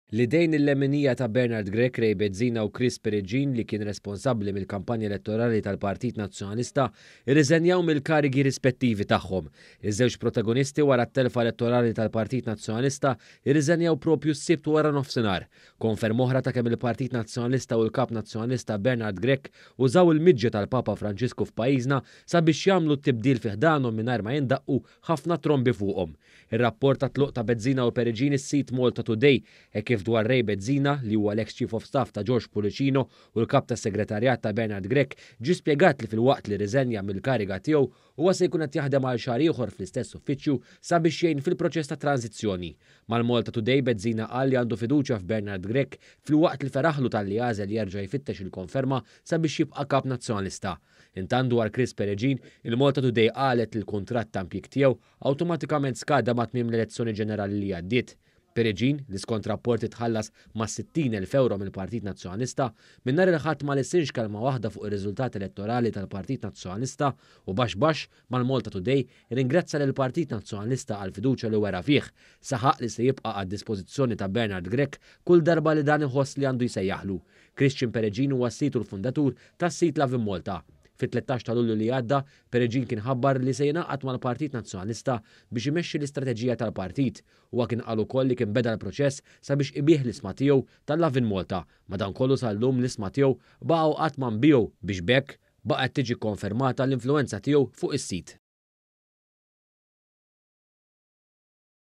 L-idejn il-leminija ta' Bernard Grech, Ray Bezzina u Chris Peregin li kien responsabbli mill-kampanja elettorali tal-Partit Nazzjonalista irriżenjaw mill-karigi rispettivi tagħhom. Iż-żewġ protagonisti wara t-telfa elettorali tal-Partit Nazzjonalista irriżenjaw propju s-Sibt wara nofsinhar. Konferma oħra ta' kemm il-Partit Nazzjonalista u l-Kap Nazzjonalista Bernard Grech użaw il-miġja tal-Papa Franġisku f'pajjiżna sabiex jagħmlu t-tibdil fi ħdanhom mingħajr ma jindaqqu ħafna trombi fuqhom. Ir-rapport tat-tluq ta' Bezzina u Peregin is-sit Malta Today hekk kif dwar Ray Bezzina, li huwa l-eks Chief of Staff ta' George Pullicino u l-Kap tas-Segretarjat ta' Bernard Grech, ġie spjegat li filwaqt li rriżenja mill-kariga tiegħu, huwa se jkun qed jaħdem għal xahar ieħor fl-istess uffiċċju sabiex jgħin fil-proċess ta' tranżizzjoni. Mal-Malta Today Bezzina qal li għandu fiduċja f'Bernard Grech filwaqt li feraħlu talli għażel jerġa' jfittex il-konferma sabiex jibqa' Kap Nazzjonalista. Intant dwar Chris Peregin, il-Malta Today qalet li l-kuntratt ta' impjieg tiegħu awtomatikament skada ma' tmiem l-elezzjoni ġenerali li għaddiet. Peregin, li skont rapporti tħallas ma' 60,000 ewro mill-Partit Nazzjonalista, minn nhar il-Ħadd ma lissinx kelma waħda fuq ir-riżultat elettorali tal-Partit Nazzjonalista u baxx baxx mal-Malta Today irringrazzja lill-Partit Nazzjonalista għall-fiduċja li wera fih. Saħaq li se jibqa' għad-dispożizzjoni ta' Bernard Grech kull darba li dan iħoss li għandu jsejjaħlu. Christian Peregin huwa s-sid u l-fundatur tas-sit Lovin Malta. Fit-13 ta' Lulju li għadda, Peregin kien ħabbar li se jingħaqad mal-Partit Nazzjonalista biex imexxi l-istrateġija tal-partit. Huwa kien qal ukoll li kien beda l-proċess sabiex ibigħ l-isma tiegħu tal-Lovin Malta, madankollu sal-lum l-isma tiegħu baqgħu qatt ma nbiegħu biex b'hekk baqgħet tiġi kkonfermata l-influwenza tiegħu fuq is-sit.